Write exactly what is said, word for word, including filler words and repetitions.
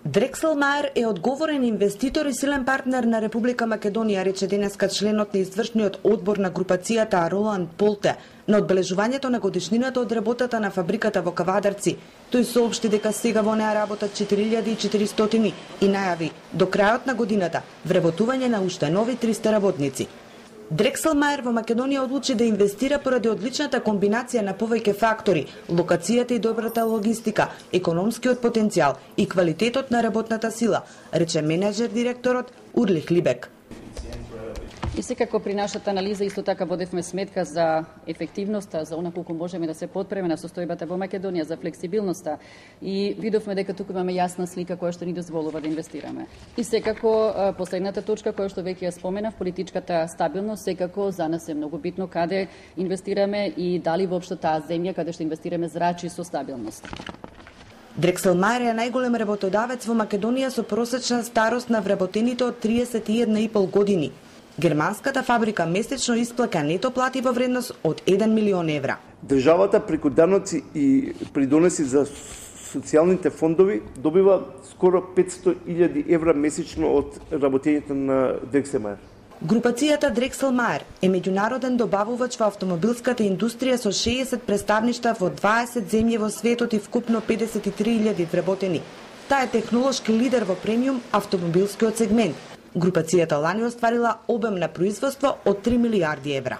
Дрекселмаер е одговорен инвеститор и силен партнер на Република Македонија, рече денеска членот на извршниот одбор на групацијата Роланд Полте на одбележувањето на годишнината од работата на фабриката во Кавадарци. Тој соопшти дека сега во неа работат четири илјади и четиристотини и најави до крајот на годината вработување на уште нови триста работници. Дрекселмаер во Македонија одлучи да инвестира поради одличната комбинација на повеќе фактори, локацијата и добрата логистика, економскиот потенцијал и квалитетот на работната сила, рече менеджер директорот Урлих Либек. И секако при нашата анализа исто така водевме сметка за ефективноста, за она колку можеме да се подпреме на состојбата во Македонија, за флексибилноста и видовме дека туку имаме јасна слика која што ни дозволува да инвестираме. И секако последната точка која што веќе ја споменав, политичката стабилност, секако за нас е многу битно каде инвестираме и дали воопшто таа земја каде што инвестираме зрачи со стабилност. Дрекселмаер е најголем работодавец во Македонија со просечна старост на вработените од триесет и една и пол години. Германската фабрика месечно исплаќа нето плати во вредност од еден милион евра. Државата преку даноци и придонеси за социјалните фондови добива скоро петсто илјади евра месечно од работењето на Дрекселмаер. Групацијата Дрекселмаер е меѓународен добавувач во автомобилската индустрија со шеесет представништва во дваесет земји во светот и вкупно педесет и три илјади вработени. Таа е технолошки лидер во премиум автомобилскиот сегмент. Групацијата лани остварила обем на производство од три милијарди евра.